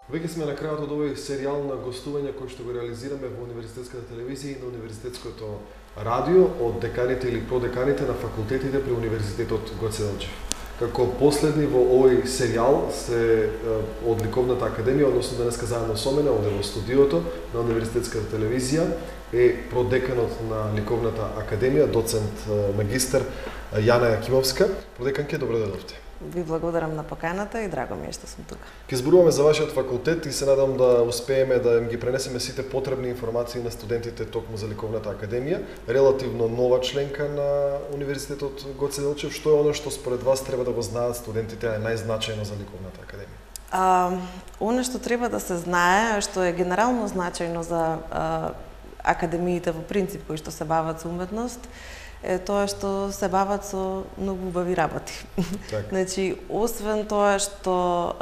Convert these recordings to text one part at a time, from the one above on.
Веќе сме на крајот од овој серијал на гостување кој што го реализираме во Универзитетската телевизија и на Универзитетското радио од деканите или продеканите на факултетите при Универзитетот Гоце Делчев. Како последни во овој серијал се од Ликовната академија, односно денеска заедно со мене овде во студиото на Универзитетската телевизија е продеканот на Ликовната академија, доцент магистар Јана Јакимовска. Продеканке, добро дојдовте. Ви благодарам на поканата и драго ми е што сум тука. Ке зборуваме за вашиот факултет и се надам да успееме да им ги пренесеме сите потребни информации на студентите токму за Ликовната академија, релативно нова членка на Универзитетот Гоце Делчев. Што е оно што според вас треба да го знаат студентите, е најзначајно за Ликовната академија? Оно што треба да се знае, што е генерално значајно за академиите во принцип кои што се бават со уметност, е тоа што се бават со многу убави работи. Значи, освен тоа што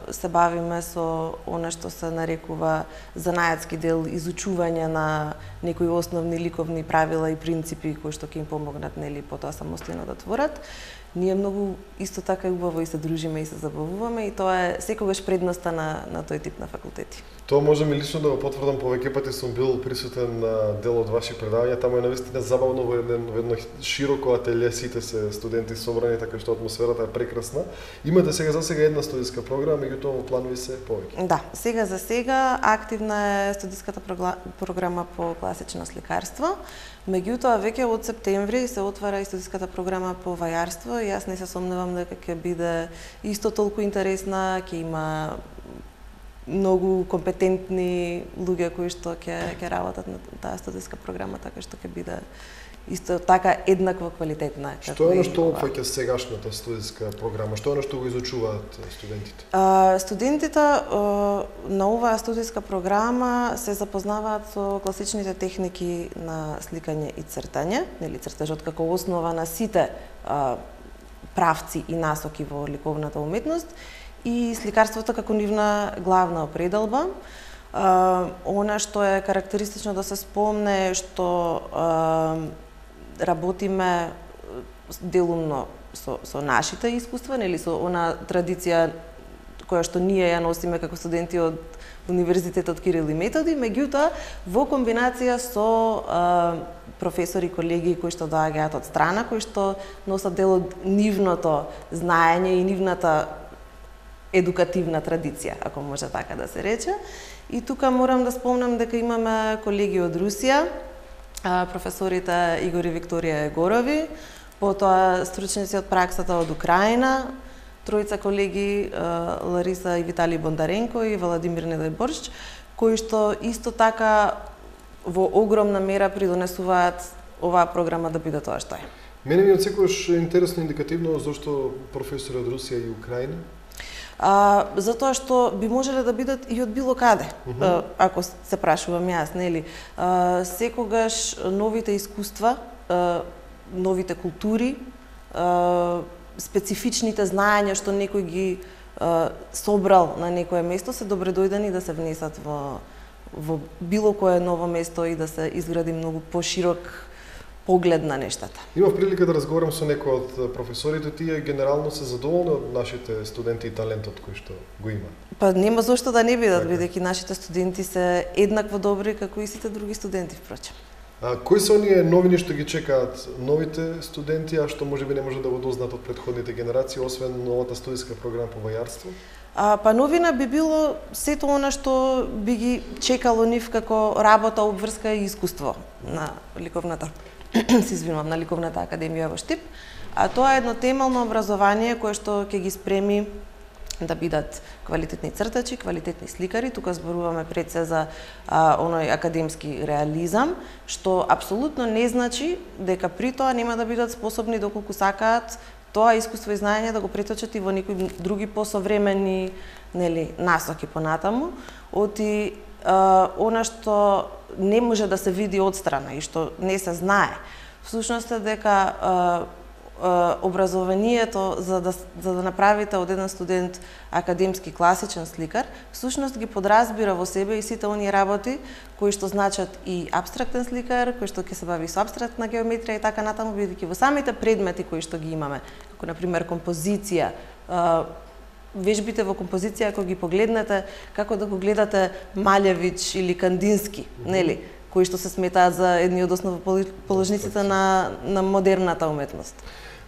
се бавиме со она што се нарекува занајатски дел, изучување на некои основни ликовни правила и принципи кои што ќе им помогнат нели потоа самостојно да творат, ние многу исто така убаво и се дружиме и се забавуваме и тоа е секогаш предноста на тој тип на факултети. Тоа можам и лично да го потврдам, повеќе пати сум бил присутен на дел од ваши предавања, таму е навистина забавно во едно широко ателје, сите се студенти собрани, така што атмосферата е прекрасна. Имате за сега една студиска програма, меѓутоа во планови се повеќе. Да, за сега активна е студиската програма по класично сликарство. Меѓутоа веќе од септември се отвара и студиската програма по вајарство и јас не се сомневам дека ќе биде исто толку интересна, ќе има многу компетентни луѓе кои што ќе работат на таа студиска програма, така што ќе биде исто така еднакво квалитетна. Што е оно што опфаќа сегашната студиска програма? Што е оно што го изучуваат студентите? Студентите на оваа студиска програма се запознаваат со класичните техники на сликање и цртање, нели цртежот како основа на сите правци и насоки во ликовната уметност и сликарството како нивна главна определба. Она што е карактеристично да се спомне што работиме делумно со нашите искуства, нели со она традиција која што ние ја носиме како студенти од Универзитетот Кирил и Методи, меѓутоа во комбинација со професори, колеги кои што доаѓаат од страна, кои што носат дел од нивното знаење и нивната едукативна традиција, ако може така да се рече. И тука морам да спомнам дека имаме колеги од Русија, професорите Игор и Викторија Егорови, потоа стручници од праксата од Украина, тројца колеги Лариса и Виталий Бондаренко и Владимир Недојборшч, кои што исто така во огромна мера придонесуваат оваа програма да биде тоа што е. Мене ми отсекогаш интересно индикативно зошто професори од Русија и Украина? Затоа што би можеле да бидат и од било каде, ако се прашувам јас, нели? Секогаш новите искуства, новите култури, специфичните знаења што некој ги собрал на некое место се добредојдени да се внесат во било кое ново место и да се изгради многу поширок поглед на нештата. Имав прилика да разговарам со некои од професорите, тие генерално се задоволни од нашите студенти и талентот кој што го има. Па нема зошто да не бидат, бидејќи нашите студенти се еднакво добри како и сите други студенти впрочем. Кои се оние новини што ги чекаат новите студенти, а што можеби не може да го дознаат од претходните генерации, освен новата студиска програма по вајарство? Па новина би било сето она што би ги чекало нив како работа, обврска и искуство на ликовната на Ликовната академија во Штип, а тоа е едно темелно образование кое што ќе ги спреми да бидат квалитетни цртачи, квалитетни сликари. Тука зборуваме пред се за оној академски реализам, што апсолутно не значи дека при тоа нема да бидат способни доколку сакаат тоа искуство и знаење да го преточат и во некои други посовремени нели насоки понатаму. Оти она што не може да се види одстрана и што не се знае, всушност е дека образованието за да направите од еден студент академски класичен сликар, всушност ги подразбира во себе и сите оние работи кои што значат и апстрактен сликар, кои што ќе се бави со апстрактна геометрија и така натаму, бидејќи во самите предмети кои што ги имаме, како на пример композиција, вежбите во композиција, ако ги погледнете, како да го гледате Малевич или Кандински, нели, кои што се сметаат за едни од основоположниците на модерната уметност.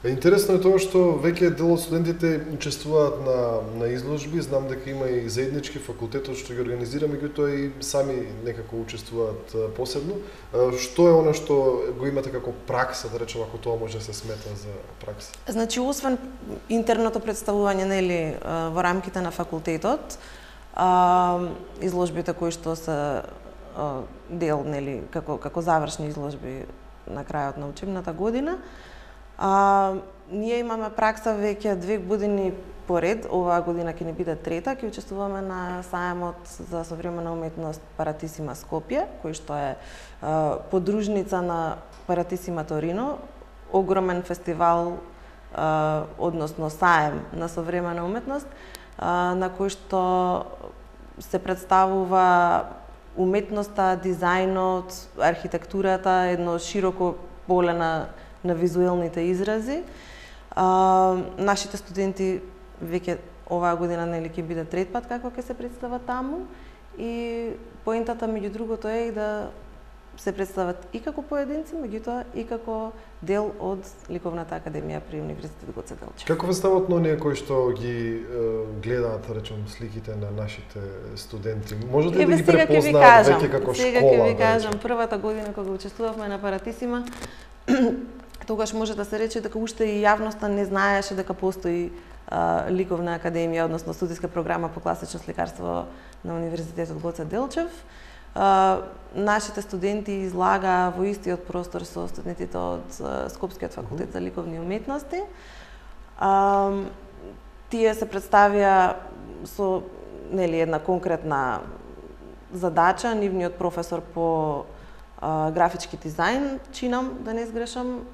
Интересно е тоа што веќе дел од студентите учествуваат на изложби, знам дека има и заеднички факултетот што ги организира, меѓутоа и сами некако учествуваат посебно. Што е она што го имате како пракса, да речеме, ако тоа може да се смета за пракса? Значи, освен интерното представување, нели, во рамките на факултетот, изложбите кои што се дел, нели, како завршни изложби на крајот на учебната година, ние имаме пракса веќе 2 години поред, оваа година ќе ни биде трета, ќе учествуваме на сајмот за современа уметност Паратисима Скопје, кој што е подружница на Паратисима Торино, огромен фестивал, односно саем на современа уметност, на кој што се представува уметноста, дизајнот, архитектурата, едно широко поле на визуелните изрази. Нашите студенти веќе оваа година, нели, ќе биде трет пат како ќе се представат таму, и поентата меѓу другото е и да се представат и како поединци, меѓутоа и како дел од Ликовната академија при Универзитет Гоце Делчев. Како ве стават на оние кои што ги гледаат, да речем, сликите на нашите студенти? Можете ли да ги препознаат веќе како школа? Сега ќе ви кажам, првата година кога учествувавме на Паратисима, тогаш може да се рече дека уште и јавноста не знаеше дека постои Ликовна академија, односно студиска програма по класично сликарство на Универзитетот Гоце Делчев. Нашите студенти излага во истиот простор со студентите од Скопскиот факултет за ликовни уметности. Тие се представија со, нели, една конкретна задача. Нивниот професор по графички дизајн, чинам, да не сгрешам,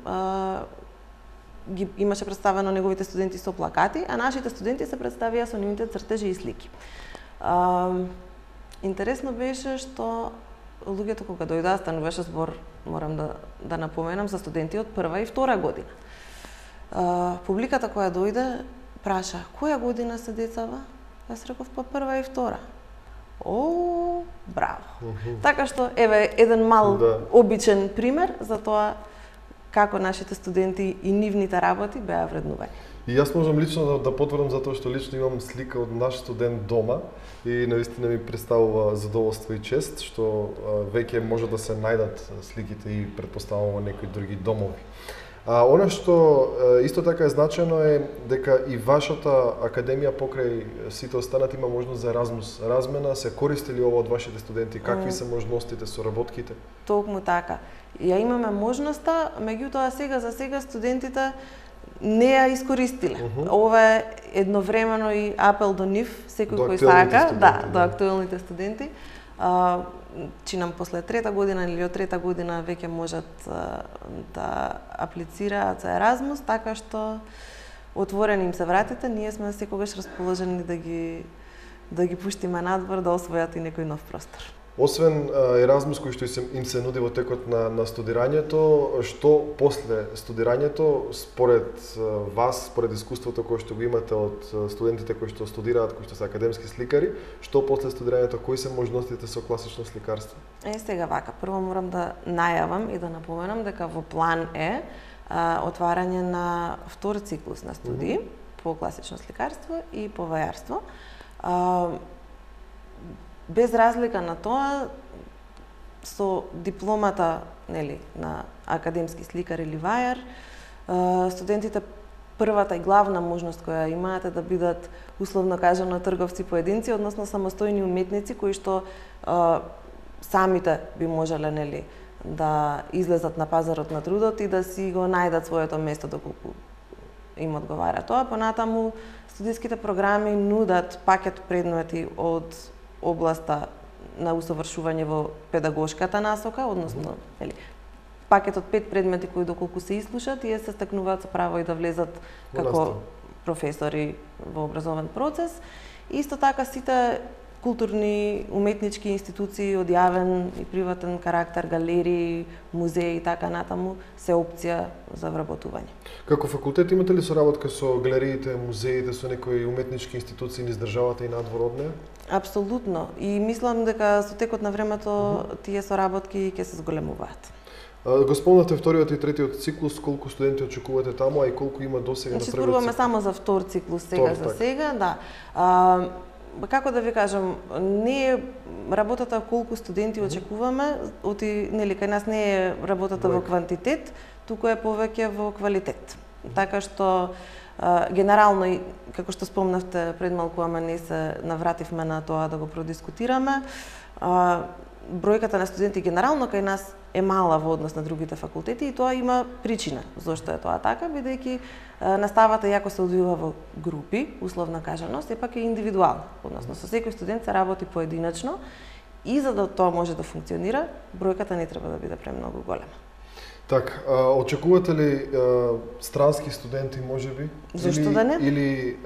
имаше представено неговите студенти со плакати, а нашите студенти се представија со нивните цртежи и слики. Интересно беше што луѓето кога дојдоа, стануваше збор, морам да напоменам, за студенти од прва и втора година. Публиката која дојде праша: која година се децава? Јас реков: па прва и втора. О, браво! Така што, еве, еден мал обичен пример за тоа како нашите студенти и нивните работи беа вреднувани. И јас можам лично да потврдам, затоа што лично имам слика од наш студент дома и навистина ми представува задоволство и чест што веќе може да се најдат сликите и претпоставувам во некои други домови. Она што исто така е значено е дека и вашата академија покрај сите останати има можност за Еразмус размена. Се користи ли ова од вашите студенти? Какви се можностите, соработките? Токму така. Ја имаме можноста, меѓутоа за сега студентите не ја искористиле. Ова е едновремено и апел до нив, секој кој сака, до актуелните студенти. Чинам после трета година или од трета година веќе можат да аплицираат за Еразмус, така што отворени им се вратите, ние сме секогаш расположени да ги пуштиме надвор, да освојат и некој нов простор. Освен Еразмус кој што им се нуди во текот на студирањето, што после студирањето, според вас, според искуството кое што го имате од студентите кои што студираат, кои што се академски сликари, што после студирањето, кои се можностите со класично сликарство? Сега вака, прво морам да најавам и да напоменам дека во план е отварање на втор циклус на студии по класично сликарство и по вајарство. Без разлика на тоа, со дипломата, нели, на академски сликар или вајар, студентите првата и главна можност која имаат е да бидат, условно кажано, трговци поединци, односно самостојни уметници кои што самите би можеле, нели, да излезат на пазарот на трудот и да си го најдат своето место доколку им одговара тоа. Понатаму студиските програми нудат пакет предмети од областа на усовршување во педагошката насока, односно, пакет од 5 предмети кои доколку се ислушат, тие се стекнуваат со право и да влезат како професори во образовен процес. Исто така сите културни, уметнички институции од јавен и приватен карактер, галерии, музеи и така натаму, се опција за вработување. Како факултет имате ли соработка со галериите, музеите, со некои уметнички институции низ државата и надвор од неа? Апсолутно. И мислам дека со текот на времето тие соработки ќе се зголемуваат. Го спомнавте вториот и третиот циклус, колку студенти очекувате таму, а и колку има досега на првиот циклус? Зборуваме само за втор циклус сега за сега, да. Како да ви кажам, не е работата колку студенти очекуваме, нели кај нас не е работата во квантитет, туку е повеќе во квалитет. Така што генерално, како што спомнавте пред малку, ама не се навративме на тоа да го продискутираме, бројката на студенти генерално кај нас е мала во однос на другите факултети и тоа има причина зошто е тоа така, бидејќи наставата иако се одвива во групи, условно кажано, сепак е индивидуална, односно со секој студент се работи поединачно и за да тоа може да функционира, бројката не треба да биде премногу голема. Така, очекувате ли странски студенти можеби? Зошто да не? Или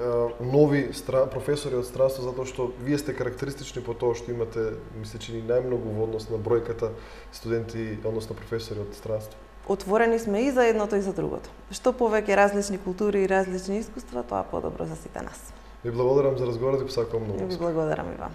нови професори од странство, затоа што вие сте карактеристични по тоа што имате, мисле, че најмногу во однос на бројката студенти, односно професори од странство? Отворени сме и за едното и за другото. Што повеќе различни култури и различни искуства, тоа подобро за сите нас. Ви благодарам за разговорот и посакувам многу. Ви благодарам и вам.